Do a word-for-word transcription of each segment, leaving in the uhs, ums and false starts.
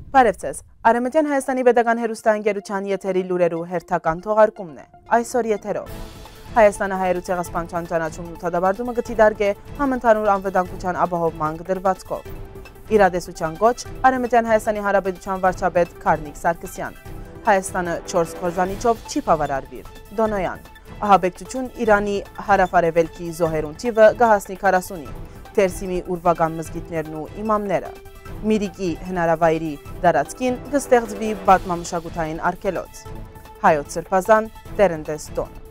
Բարեւ ձեզ։ Արեւմտեան Հայաստանի պետական հեռուստաընկերութեան եթերի լուրերու հերթական թողարկումն է։ Այսօր եթերով։ Հայաստանը հայերու ցեղասպանութեան ճանաչումն ու դատապարտումը կը դիտարկէ համընդհանուր անվտանգութեան ապահովման կտրուածքով։ Իրատեսութեան կոչ, Արեւմտեան Հայաստանի Հանրապետութեան վարչապետ Գառնիկ Սարգսեան։ Հայաստանը չորս կործանիչով չի բաւարարուիր։ Տոնոյեան։ Ահաբեկչութիւն Իրանի հարաւարեւելքի զոհերուն թիւը կը հասնի քառասունի, Թերսիմի ուրուական մզկիթներն ու իմամները։ Միրիկի հնարավայրի տարածքին կը ստեղծուի պատմամշակութային արգելոց։ Հայոց սրբազան Տերնդես տօն։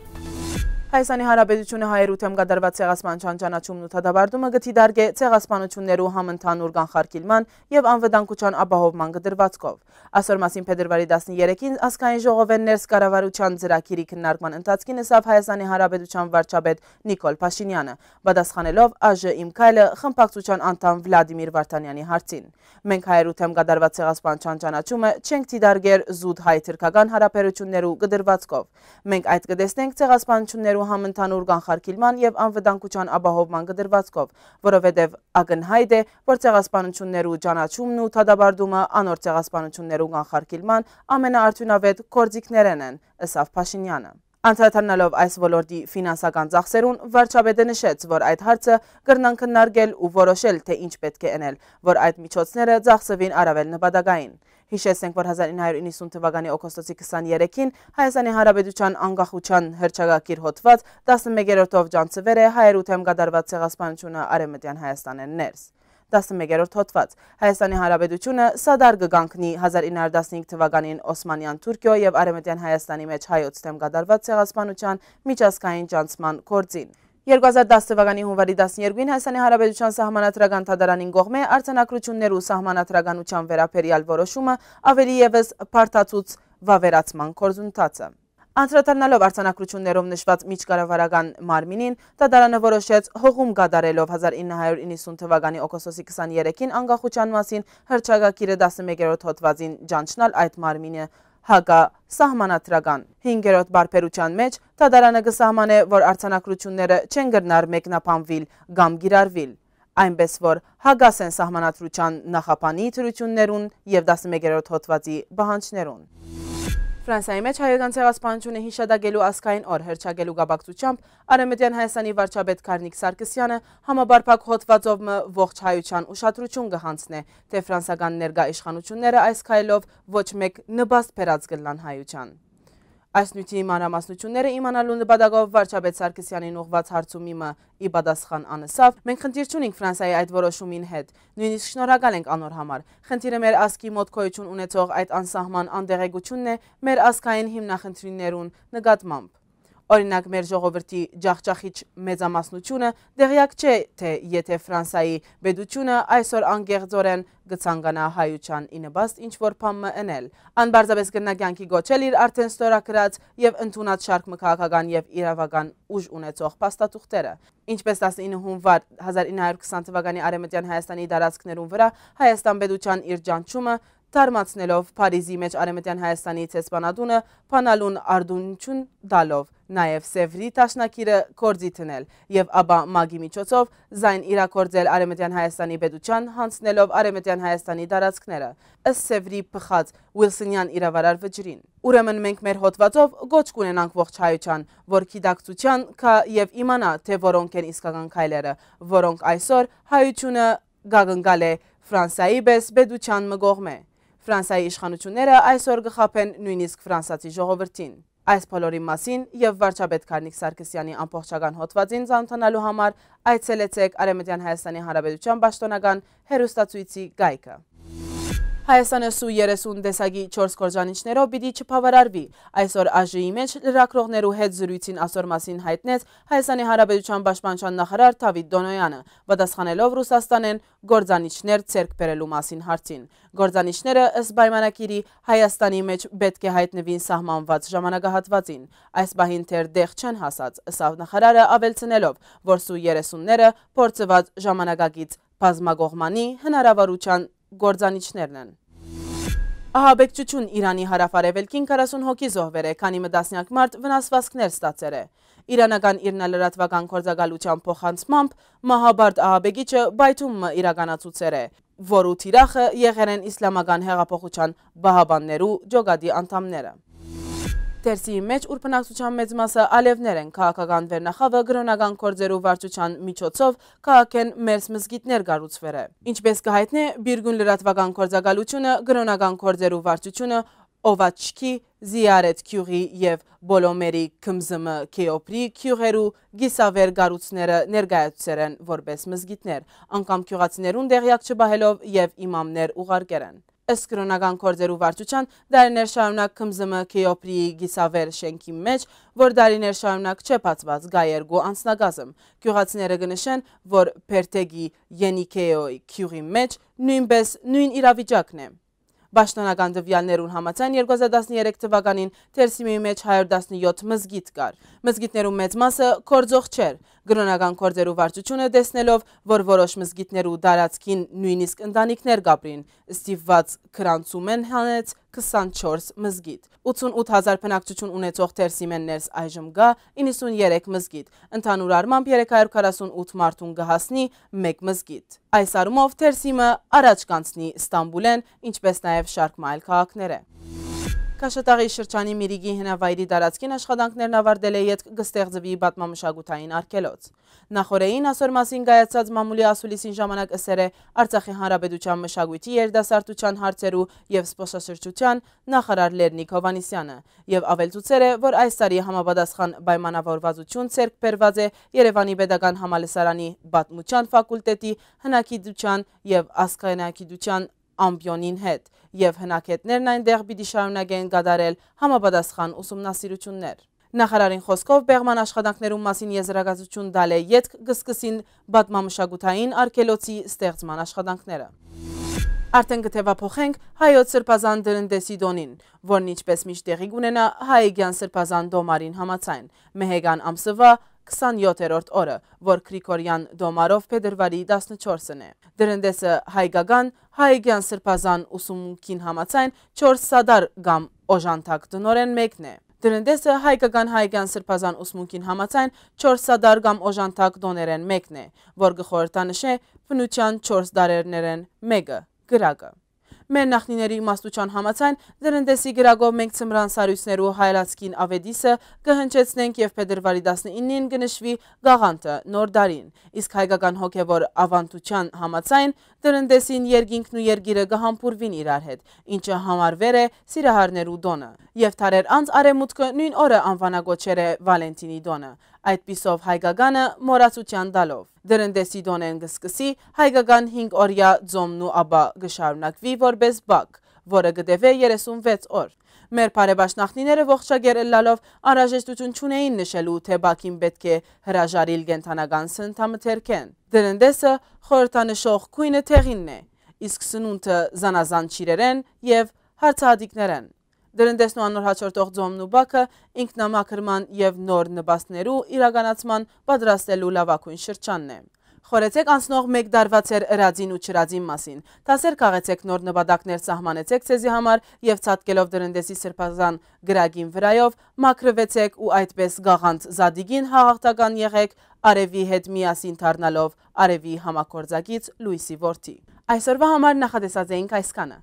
Հայաստանի Հանրապետութիւնը հայերու դէմ կատարուած ցեղասպանութեան ճանաչումն ու դատապարտումը կը դիտարկէ ցեղասպանութիւններու համընդհանուր կանխարգիլման եւ անվտանգութեան ապահովման կտրուածքով։ Ասոր մասին փետրուարի տասներկին ազգային ժողովէն ներս կառավարութեան ծրագիրի քննարկման ընթացքին ըսաւ Հայաստանի Հանրապետութեան վարչապետ Նիկոլ Փաշինեանը, պատասխանելով «Ա Ժ իմ քայլը» խմբակցութեան անդամ Վլադիմիր Վարդանեանի հարցին։ «Մենք հայերու դէմ կատարուած ցեղասպանութեան ճանաչումը չենք դիտարկեր զուտ հայ-թրքական յարաբերութիւններու կտրուածքով։ Մենք այդ կը տեսնենք ցեղասպանութիւններու համընդհանուր կանխարգիլման եւ անվտանգութեան ապահովման կտրուածքով, որովհետեւ ակնյայտ է, որ ցեղասպանութիւններու ճանաչումն ու դատապարտումը անոր ցեղասպանութիւններու կանխարգիլման ամենաարդիւնաւէտ գործիքներէն են», ըսաւ Փաշինեանը։ Անդրադառնալով այս ոլորտի ֆինանսական ծախսերուն, վարչապետը նշեց, որ այդ հարցը կրնան քննարկել ու որոշել, թէ ինչ պէտք է ընել, որ այդ միջոցները ծախսուին առաւել նպատակային։ Յիշեցնենք, որ հազար ինը հարիւր իննսուն թուականի օգոստոսի քսաներեքին Հայաստանի Հանրապետութեան անկախութեան հռչակագիր հոդուած տասներկերորդով ճանչցուեր է հայերու դէմ կատարուած ցեղասպանութիւնը Արեւմտեան Հայաստանէն ներս։ Տասներկերորդ հոդուած։ Հայաստանի Հանրապետութիւնը սատար կը կանգնի հազար ինը հարիւր տասնհինգ թուականին Օսմանեան Թուրքիոյ եւ Արեւմտեան Հայաստանի մէջ հայոց դէմ կատարուած ցեղասպանութեան միջազգային ճանչցման գործին։ Երկու հազար տասը թուականի յունուարի տասներկուին Հայաստանի Հանրապետութեան սահմանադրական դատարանին կողմէ արձանագրութիւններու սահմանադրականութեան վերաբերեալ որոշումը աւելի եւս բարդացուց վաւերացման գործընթացը։ Անդրադառնալով արձանագրութիւններով նշուած միջկառավարական մարմինին, դատարանը որոշեց հողում կատարելով հազար ինը հարիւր իննսուն թուականի օգոստոսի քսաներեքին անկախութեան մասին հռչակագիրը տասներկերորդ հոդուածին ճանչնալ այդ մարմինը հակասահմանադրական։ Հինգերորդ պարբերութեան մէջ դատարանը կը սահմանէ, որ արձանագրութիւնները չեն կրնար մեկնաբանուիլ կամ կիրառուիլ, այնպէս որ հակաս են սահմանադրութեան նախաբանի դրութիւններուն եւ տասներկերորդ հոդուածի պահանջներուն։ Ֆրանսայի մէջ հայկական ցեղասպանութիւնը յիշատակելու ազգային օր հռչակելու կապակցությամբ Արեւմտեան Հայաստանի վարչապետ Գառնիկ Սարգսեանը համապարփակ հոդուածով մը ողջ հայութեան ուշադրութիւն կը յանձնէ, թէ ֆրանսական ներկայ իշխանութիւնները այս քայլով ոչ մէկ նպաստ բերած կ'ըլլան հայութեան։ Այս նիւթի մանրամասնութիւնները իմանալու նպատակով վարչապետ Սարգսեանին ուղղուած հարցումի մը ի պատասխան ան ըսաւ. «Մենք խնդիր չունենք Ֆրանսայի այդ որոշումին հետ, նոյնիսկ շնորհակալ ենք անոր համար։ Խնդիրը մեր ազգի մոտ գոյութիւն ունեցող այդ անսահման անտեղեկութիւնն է մեր ազգային հիմնախնդիրներուն նկատմամբ։ Օրինակ, մեր ժողովրդի ջախջախիչ մեծամասնութիւնը տեղեակ չէ, թէ եթէ Ֆրանսայի պետութիւնը այսօր անկեղծօրէն կը ցանկանայ հայութեան ի նպաստ ինչ-որ բան մը ընել, ան պարզապէս կրնայ կեանքի կոչել իր արդէն ստորագրած եւ ընդունած շարք մը քաղաքական եւ իրաւական ուժ ունեցող փաստաթուղթերը։ Ինչպէս տասնինը յունուար հազար ինը հարիւր քսան թուականի Արեւմտեան Հայաստանի տարածքներուն վրայ Հայաստան պետութեան իր ճանչումը թարմացնելով Փարիզի մէջ Արեւմտեան Հայաստանի դեսպանատունը բանալուն արտօնութիւն տալով, նաեւ Սեւրի դաշնակիրը գործի դնել եւ ապա ՄԱԿ-ի միջոցով զայն իրագործել Արեւմտեան Հայաստանի պետութեան, յանձնելով Արեւմտեան Հայաստանի տարածքները, ըստ Սեւրի բխած Ուիլսոնեան իրաւարար վճռին։ Ուրեմն մենք մեր հոդվածով կոչ կ'ունենանք ողջ հայութեան, որ գիտակցութեան գայ եւ իմանայ, թէ որոնք են իսկական քայլերը, որոնք այսօր հայութիւնը կ'ակնկալէ Ֆրանսայի պէս պետութեան մը կողմէ։ Ֆրանսայի իշխանութիւնները այսօր կը խաբեն նոյնիսկ ֆրանսացի ժողովրդին։ Այս բոլորին մասին եւ վարչապետ Գառնիկ Սարգսեանի ամբողջական հոդվածին ծանօթանալու համար այցելեցէք Արեւմտեան Հայաստանի Հանրապետութեան պաշտօնական հեռուստացոյցի կայքը։ Հայաստանը սու երեսուն տեսակի չորս կործանիչներով պիտի չբաւարարուի։ Այսօր Ա Ժ-ի մէջ լրագրողներու հետ զրոյցին ասոր մասին յայտնեց Հայաստանի Հանրապետութեան պաշտպանութեան նախարար Դավիթ Տոնոյեանը, պատասխանելով Ռուսաստանէն կործանիչներ ձեռք բերելու մասին հարցին։ Կործանիչները, ըստ պայմանագիրի, Հայաստանի մէջ պէտք է յայտնուին սահմանուած ժամանակահատուածին։ Այս պահին դեռ տեղ չեն հասած, ըսաւ նախարարը, աւելցնելով, որ սու երեսունները փորձուած ժամանակակից բազմակողմանի հնարաւորութեան կործանիչներն են։ Ահաբեկչութիւն Իրանի հարաւարեւելքին, քառասուն հոգի զոհուեր է, քանի մը տասնեակ մարդ վնասուածքներ ստացեր է։ Իրանական իրնալրատուական գործակալութեան փոխանցմամբ, մահաբարդ ահաբեկիչը պայթում մը իրականացուցեր է։ որու թիրախը եղեր են Իսլամական հեղափոխության պահապաններու ջոկատի անդամները։ Թերսիմի մէջ, ուր բնակչութեան մեծ մասը ալեւներ են, քաղաքական վերնախաւը կրօնական գործերու վարչութեան միջոցով քաղաքէն մերձ մզկիթներ կառուցուեր է։ Ինչպէս կը յայտնէ Բիրգուն լրատուական գործակալութիւնը, կրօնական գործերու վարչութիւնը Օվաչքի, Զիարեթ գիւղի եւ Բոլոմերի Քմզմը Քեոփրի գիւղերու կիսավեր կառույցները ներկայացուցեր են որպէս մզկիթներ, անգամ գիւղացիներուն տեղեակ չպահելով եւ իմամներ ուղարկեր են։ Ըստ կրօնական գործերու վարչութեան, դարիներ շարունակ Քմզմը Քեոփրիի կիսավեր շենքի մէջ, որ դարիներ շարունակ չէ բացուած, կայ երկու անձնակազմ։ Գիւղացիները կը նշեն, որ Պերթեգի Ենիքեոյ գիւղի մէջ նոյնպէս նոյն իրավիճակն է։ Պաշտոնական տուեալներուն համաձայն, երկու հազար տասներեք թուականին Թերսիմի մէջ հարիւր տասնեթի մզկիթ կար։ Մզկիթներու մեծ մասը գործող չէր։ Կրօնական գործերու վարչութիւնը, տեսնելով, որ որոշ մզկիթներու տարածքին նոյնիսկ ընտանիքներ կ'ապրին, ստիպուած գրանցումէն հանեց քսանչորս մզկիթ։ Ութսունութ հազար բնակչութիւն ունեցող Թերսիմէն ներս այժմ կայ իննսուններեք մզկիթ։ Ընդհանուր առմամբ, երեք հարիւր քառասունութ մարդուն կը հասնի մէկ մզկիթ։ Այս առումով Թերսիմը առաջ կ'անցնի Ստամբուլէն, ինչպէս նաեւ շարք մը այլ քաղաքներէ։ Քաշաթաղի շրջանի Միրիգի հնավայրի տարածքին աշխատանքներն աւարտելէ ետք կը ստեղծուի պատմամշակութային արգելոց։ Նախօրէին, ասոր մասին կայացած մամուլի ասուլիսին ժամանակ, ըսեր է Արցախի Հանրապետութեան մշակոյթի, երիտասարդութեան հարցերու եւ զբօսաշրջութեան նախարար Լեռնիկ Հովհաննիսեանը, եւ աւելցուցեր է, որ այս տարի համապատասխան պայմանաւորուածութիւն ձեռք բերուած է Երեւանի Պետական Համալսարանի Պատմութեան ֆակուլտետի հնագիտութեան եւ ազգայնագիտութեան ամպիոնին հետ, եւ հնագետներն այնտեղ պիտի շարունակեն կատարել համապատասխան ուսումնասիրութիւններ։ Նախարարին խօսքով, պեղման աշխատանքներուն մասին եզրակացութիւն տալէ ետք կը սկսին պատմամշակութային արգելոցի ստեղծման աշխատանքները։ Արդեն կը թեւափոխենք հայոց սրբազան Դրնդեսի տօնին, որն, ինչպէս միշտ, տեղի կունենայ Հայկեան սրբազան տոմարին համաձայն, Մեհեկան ամսուայ քսանեթերորդ օրը, որ Գրիգորեան տոմարով փետրուարի տասնչորսն է։ Դրնդեսը հայկական Հայկեան սրբազան ուսմունքին համաձայն չորս սատար կամ օժանդակ տօներէն մէկն է։ Դրնդեսը հայկական Հայկեան սրբազան ուսմունքին համաձայն չորս սատար կամ օժանդակ տօներէն մէկն է, որ կը խորհրդանշէ բնութեան չորս դարերներէն մէկը՝ կրակը։ Մեր նախնիների իմաստութեան համաձայն, Դրնդեսի կրակով մենք ձմրան սառոյցներու հայելացքին աւետիսը կը հնչեցնենք եւ փետրուարի տասնինին կը նշուի Գաղանթը, Նոր Դարին, իսկ հայկական հոգեւոր աւանդութեան համաձայն, Դրնդեսին երկինքն ու երկիրը կը համբուրուին իրար հետ, ինչը համարուեր է սիրահարներու տօնը, եւ դարեր անց Արեւմուտքը նոյն օրը անուանագոչեր է Վալենտինի տօնը, այդպիսով հայկականը մոռացութեան տալով։ Դրնդեսի տօնէն կը սկսի հայկական հինգ օրեայ ծոմն ու ապա կը շարունակուի որպէս Պակ, որը կը տեւէ երեսունվեց օր։ Մեր բարեբաշխ նախնիները, ողջակեր ըլլալով, անհրաժեշտութիւն չունէին նշելու, թէ Պակին պէտք է հրաժարիլ կենդանական սննդամթերքէն։ Դրնդեսը խորհրդանշող գոյնը դեղինն է, իսկ սնունդը՝ զանազան ճիւրերէն եւ հարցահատիկներէն։ Դրնդեսն ու անոր յաջորդող ծոմն ու Պակը ինքնամաքրման եւ նոր նպաստներու իրականացման պատրաստելու լաւագոյն շրջանն է։ Խորհեցէք անցնող մէկ տարուայ ձեր ըրածին ու չըրածին մասին։ Դասեր քաղեցէք, նոր նպատակներ սահմանեցէք ձեզի համար եւ, ցատկելով Դրնդեսի սրբազան կրակին վրայով, մաքրուեցէք ու այդպէս Գաղանթ Զատիկին հաղթական եղէք, արեւի հետ միասին դառնալով արեւի համագործակից՝ լոյսի որդի։ Այսօրուայ համար նախատեսած էինք այսքանը։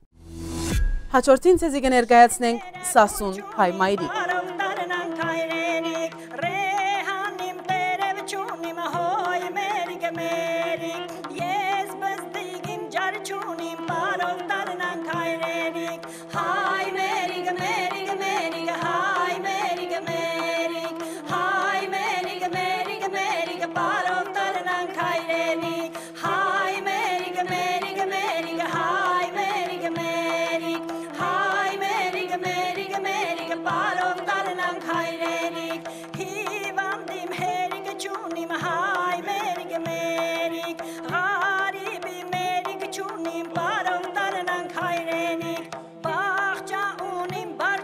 Հաջորդին ձեզի կը ներկայացնենք Սասուն հայ մայրիկ։ Բարով դառնանք հայրենիք, Ռեհանիմ, տերև չունիմ, հոյ մերիկ, մերիկ, ես բզդիգիմ, ջար չունիմ, բարով դառնանք հայրենիք, հայ մերիկ, մերիկ, մերիկ, հայ մերիկ, մերիկ, հայ մերիկ, մերիկ, մերիկ, բարով դառնանք հայրենիք, հայ մերիկ, մերիկ, մերիկ, հայ մերիկ, մերիկ, հայ մերիկ, մերիկ, մերիկ, բարով դառնանք հայրենիք, հիվանդիմ, հերիք չունիմ, հայ մերիկ, մերիկ, ղարիբի, մերիկ չունիմ, բարով դառնանք հայրենիք, բաղջա ունիմ, բար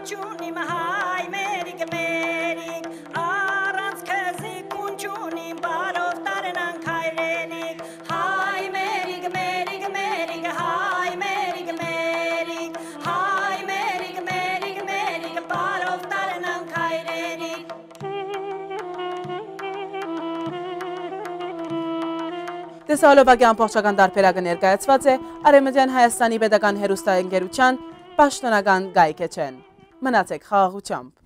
Տեսահոլովակի ամբողջական տարբերակը ներկայացուած է Արեւմտեան Հայաստանի Պետական Հեռուստաընկերութեան պաշտօնական կայքէջէն։ Մնացեք խաղաղութեամբ։